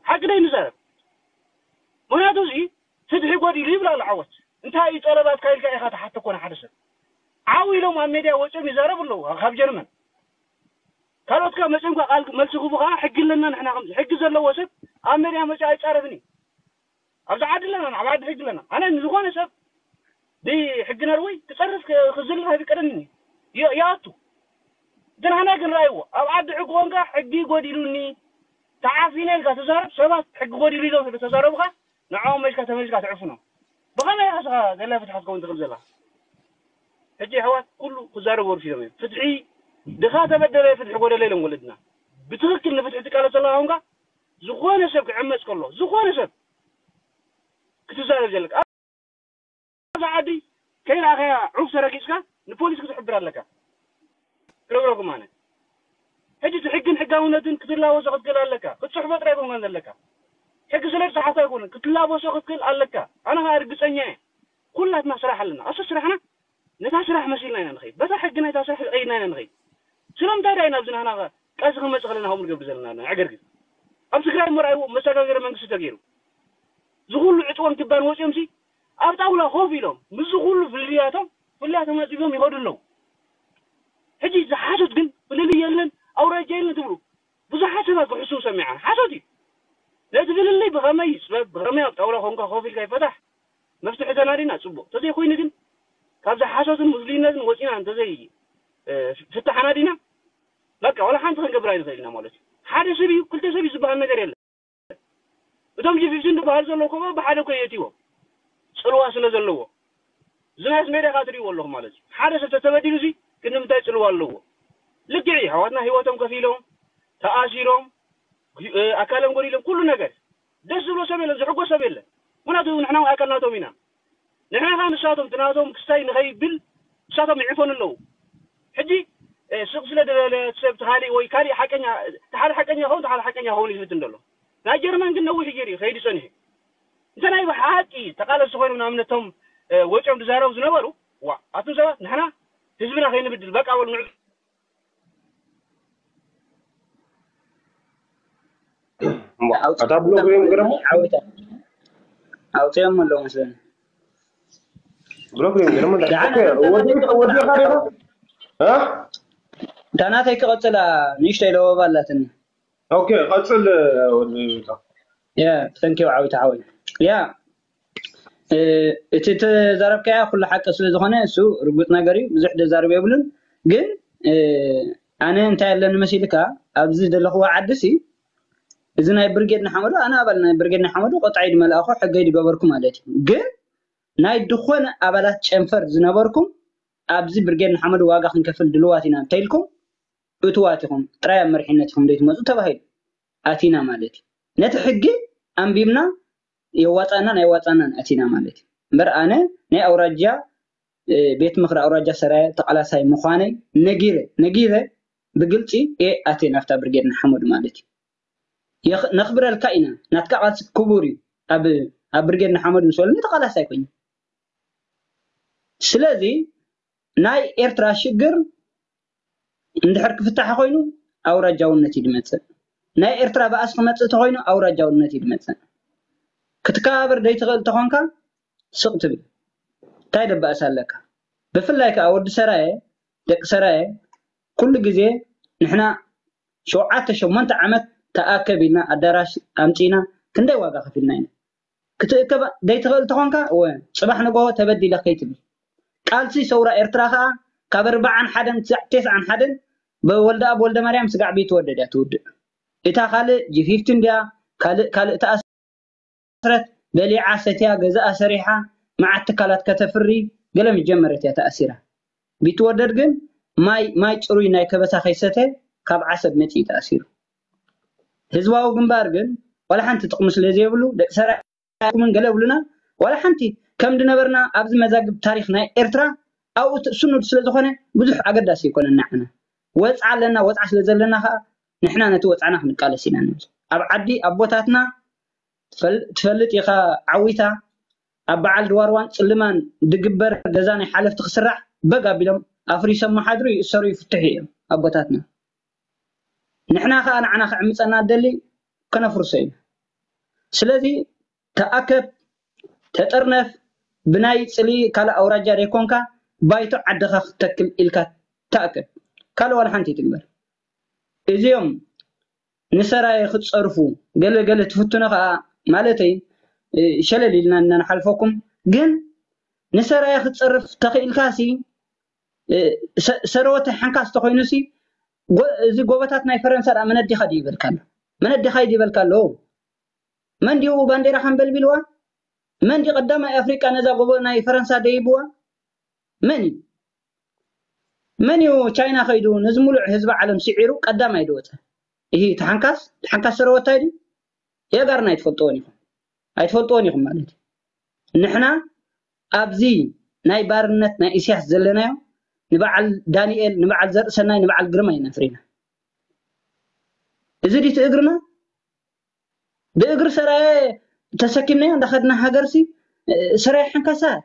ሓቂ ዶ ይንዛረብ? ምክንያቱ እዚ ፍትሒ ጎዲሉ ይብላ ኣሎ ዓወት። እንታይ እዩ ጠለባትካ ኢልካ ኢኻ ትሓቶ ኮነ ሓደ ሰብ። ዓው ኢሎም ኣብ ሜድያ ወፂኦም ይዛረቡ ኣለዉ ካብ ጀርመን። ካልኦት ከ መፂኦም ከ ቃል መልሲ ክህቡ ከዓ ሕጊ ኣለና ንሕና። ከምዚ ሕጊ ዘለዎ ሰብ ኣብ ሜድያ መፂኡ ኣይፃረፍን እዩ። ኣብዚ ዓዲ ኣለና፣ ኣብ ዓዲ ሕጊ ኣለና። ኣነ ንዝኾነ ሰብ ብሕጊ ነርወይ ክፀርፍ ክ- ክዝልፍ ኣይፍቀደንን እዩ። ይ- ይኣቱ። ግን ኣነ ግን ራእይዎ ኣብ ዓዲ ሕጊ ኮንካ ሕጊ ጎዲሉኒ ተዓፊነ ኢልካ ተዛረብ። ሰባት ሕጊ ጎዲሉ ኢሎም ስለ ተዛረቡካ ንዕኦም መጅካ ተመጅካ ትዕፍኖም። ብኸመይ ኢኻ ስኻ ዘላ ፍትሓት ከውን ትኽእል ዘላ? ሕጂ ኣሕዋት ኩሉ ክዛረቡ ወርሲዶም እዮም። ፍትሒ ድኻ ተበደለ ፍትሒ ጎደለ ኢሎም ወለድና። ብትኽክል ንፍትሒ ትቃለስ ዘለካ ኮንካ ዝኾነ ሰብ ክዕመፅ ከሎ ዝኾነ ሰብ ክትዛረብ ዘለካ ኣብዚ ዓዲ ከይረኣኸያ ዑፍ ተረጊፅካ ንፖሊስ ክትሕብር ኣለካ። ክነግረኩም ኣነ ሕጂ እቲ ሕግን ሕጋውነትን ክትላወሶ ክትክእል ኣለካ። ክትፅሕፎ ጥራይ ኣይኮንካን ዘለካ። ሕጊ ስለ ዝፀሓፍካ ኣይኮነን ክትላወሶ ክትክእል ኣለካ። ኣነ ከዓ ርግፀኛ እየ። ኩላትና ስራሕ ኣለና። ኣሱ ስራሕና ነታ ስራሕ መሲልና ኢና ንኸይድ። በታ ሕጊ ናይታ ስራሕ ቀይድና ኢና ንኸይድ። ስለምንታይ ዳይ ናብዚ ናህና ቃልሲ ክንመፅእ ከለና ከምኡ ንገብር ዘለና ዕገርግር ኣብ ትግራይ መርኣይዎ መሰጋገሪ መንግስቲ ተገይሩ ዝኩሉ ዕፅዋን ክባን ወፂኦም ሲ ኣብ ጣውላ ኮፍ ኢሎም ምስ ኩሉ ፍልልያቶም ፍልልያቶም ኣፅቢቦም ይኸዱ ኣለዉ። ሕጂ ዝሓሶት ግን ፍልልይ የለን ኣውራጃ የለን ትብሉ ብዙሓት ሰባት ክሕስቡ ሰሚዓ ሓሶት እዩ። ነቲ ፍልልይ ብኸመይ ይፅበብ ብኸመይ ኣብ ጣውላ ኮንካ ኮፍ ኢልካ ይፈታሕ መፍትሒ ተናዲና ፅቡቅ ተዘይኮይኑ ግን ካብዚ ሓሶትን ሙስሊነትን ወፂና እንተዘይ ፍታሕ ኣናዲና በቃ ዋላ ሓንቲ ክንገብር ኣይንኽእል ኢና ማለት እዩ። ሓደ ሰብ እዩ ክልተ ሰብ እዩ ዝበሃል ነገር የለን። እቶም ጂ ፊፍቲን ዝበሃል ዘለዉ ኮ ብሓደ ኮ የእትዎም ፅልዋ ስለ ዘለዎ ዝናስ ሜዳ ካ ትሪእዎ ኣለኹ ማለት እዩ። ሓደ ሰብ ተተበዲሉ ሲ ግን ንምንታይ ፅልዋ ኣለዎ? ልክዕ እዩ ኣሕዋትና ህይወቶም ከፊሎም ተኣሲሮም ኣካሎም ጎዲሎም ኩሉ ነገር ደስ ዝብሎ ሰብ የለን ዝሕጎስ ሰብ የለን። ምክንያቱ ንሕና ኣካል ናቶም ኢና። ንሕና ካ ንሳቶም ትናቶም ክስታይ ንኸይብል ንሳቶም ይዕፈኑ ኣለዉ። ሕጂ ስቕ ስለ ደለለ ሰብ ተኻሊእ ወይ ካሊእ ሓቀኛ ተሓደ ሓቀኛ ኸውን ተሓደ ሓቀኛ ኸውን ይፍትን ደሎ ናይ ጀርመን ግን ነዊሕ ገይሩ እዩ ከይዱ ጸኒሑ። እንተ ናይ ብሓቂ ተቃለስቲ ኮይኖም ንኣብነቶም ወጭኦም ዝዛረቡ ዝነበሩ ዋ ኣቱም ሰባት ንሕና ህዝብና ከይንብድል በቃ በሉ ንዑ እታ ብሎግ ሪኦም ገረሞ ዓወታ ኣውፅኦም ኣለዉ መስለኒ ብሎግ ሪኦም ገረሞ ወዲኻ ዲኻ እታ ናተይ ክቐፅላ ንእሽተይ ለወባ ኣላትኒ ኦኬ ቀፅል ወዲ ያ ተንኪው ዓዊት ዓወይ ያ እቲ ተዛረብካያ ኩሉ ሓቂ ስለ ዝኾነ እሱ ርጉፅ ነገር እዩ ብዙሕ ደዛርብ የብሉን ግን ኣነ እንታይ ኣለኒ መሲልካ ኣብዚ ዘለኽዎ ዓዲ ሲ እዚ ናይ ብርጌድ ንሓመዱ ኣነ ኣባል ናይ ብርጌድ ንሓመዱ ቆጣዒ ድመልኣኹ ሕገይ ድገበርኩ ማለት እዩ ግን ናይ ድኾነ ኣባላት ጨንፈር ዝነበርኩም ኣብዚ ብርጌድ ንሓመዱ ዋጋ ክንከፍል ድልዋት ኢና እንተኢልኩም እትዋት ኢኹም ጥራይ ኣብ መሪሕነት ኢኹም ዘይትመፁ ተባሂሉ ኣቲና ማለት እዩ ነቲ ሕጊ ኣንቢብና የዋፃናን ኣይዋፃናን ኣቲና ማለት እዩ እምበር ኣነ ናይ ኣውራጃ ቤት ምክሪ ኣውራጃ ሰራየ ተቃላሳይ ምዃነይ ነጊረ ነጊረ ብግልፂ እየ ኣትየ ናብታ ብርጌድ ንሓመዱ ማለት እዩ ነኽብረልካ ኢና ናትካ ቃልሲ ክቡር እዩ ኣብ ኣብ ብርጌድ ንሓመዱ ምስ በለኒ ተቃላሳይ ኮይኑ ስለዚ ናይ ኤርትራ ሽግር እንድሕር ክፍታሕ ኮይኑ ኣውራጃውነት እዩ ድመፅእ ናይ ኤርትራ በኣስ ክመፅእ ተኮይኑ ኣውራጃውነት እዩ ድመፅእ ክትከባበር ደይትኽእል ተኾንካ ስቕ ትብል እንታይ ደባእስ ኣለካ ብፍላይ ከዓ ወዲ ሰራየ ደቂ ሰራየ ኩሉ ግዜ ንሕና ሸውዓተ ሸሞንተ ዓመት ተኣከብ ኢልና ኣዳራሽ ኣምፂና ክንደይ ዋጋ ከፊልና ኢና ክትእከብ ዘይትኽእል ተኾንካ እወ ፅባሕ ንጎሆ ተበዲለ ከይትብል ቃልሲ ሰውራ ኤርትራ ከዓ ካብ ኣርባዓን ሓደን ክሳዕ ተስዓን ሓደን ብወልደኣብ ወልደማርያም ስጋዕ ቢትወደድ እያ ትውድእ እታ ካልእ ጂ ፊፍቲን ድያ ካልእ ካልእ ተኣስረት በሊዓ ሰትያ ገዛኣ ሰሪሓ መዓት ትካላት ከተፍሪ ገለ ምስ ጀመረት እያ ተኣሲራ ቢትወደድ ግን ማይ ማይ ፅሩይ ናይ ከበሳ ከይሰተ ካብ ዓሰብ መፂኡ ተኣሲሩ ህዝባዊ ግንባር ግን ዋላ ሓንቲ ጥቕሚ ስለ ዘይብሉ ደቂ ሰራዊት ኣይኮኑን ገለ ይብሉና ዋላ ሓንቲ ከም ድነበርና ኣብዚ መዛግብ ታሪኽ ናይ ኤርትራ ኣብኡ ስኑድ ስለ ዝኾነ ብዙሕ ኣገዳሲ ኣይኮነን ንዓና ወፅዓ ኣለና ወፅዓ ስለ ዘለና ከዓ ንሕና ነቲ ወፅዓና ክንቃለስ ኢና ንብል ኣብ ዓዲ ኣቦታትና ትፈልጥ ኢኻ ዓዊታ ኣብ በዓል ድዋርዋን ፅልማን ድግበር ገዛ ናይ ሓለፍቲ ክስራሕ በግ ኣቢሎም ኣፍሪሶም መሓድሩ ይእሰሩ ይፍትሑ እዮም ኣቦታትና ንሕና ከዓ ንዓና ክዕምፀና ደሊ ከነፍርሶ ኢና ስለዚ ተኣከብ፣ ተጠርነፍ፣ ብናይ ጽሊ ካልእ ኣውራጃ ዘይኮንካ ባይቶ ዓድኻ ክትተክል ኢልካ ተኣከብ። ካልእ ዋላ ሓንቲ ይትግበር። እዚኦም ንሰራየ ክትጸርፉ ገለ ገለ ትፍትኖ ከኣ ማለተይ ሸለል ኢልና እናንሓልፈኩም፣ ግን ንሰራየ ክትጸርፍ ተኽኢልካሲ ሰረወተ ሓንካስ ተኾይኑሲ፣ እዚ ጎቦታት ናይ ፈረንሳ ደኣ መነዲኻ ድዩ ይበልካ ኣሎ? መነዲኻ እዩ ድዩ ይበልካ ኣሎ? መን ድዩ ባንዴራ ሓንበልቢልዋ? መን ድዩ ቀዳማይ ኣፍሪቃ ነዛ ጎቦ ናይ ፈረንሳ ደይብዋ? መን እዩ? መን እዩ ቻይና ከይዱ ነዚ ሙሉዕ ህዝቢ ዓለም ስዒሩ ቀዳማይ ድወፀ? ይህ ተሓንካስ ተሓንካስ ሰረወታይ ድዩ? የጋርና ኣይትፈልጥዎን ኢኹም። ኣይትፈልጥዎን ኢኹም ማለት እዩ። ንሕና ኣብዚ ናይ ባርነት ናይ ኢሳያስ ዘለናዮ ንበዓል ዳንኤል፣ ንበዓል ዘርእሰናይ፣ ንበዓል ግርማ ኢና ፍሪና። እዚ ድዩ እግርና? ብእግሪ ሰራየ ተሰኪምናዮ እንዳኸድና ሃገርሲ፣ ሰራየ ሓንካሳት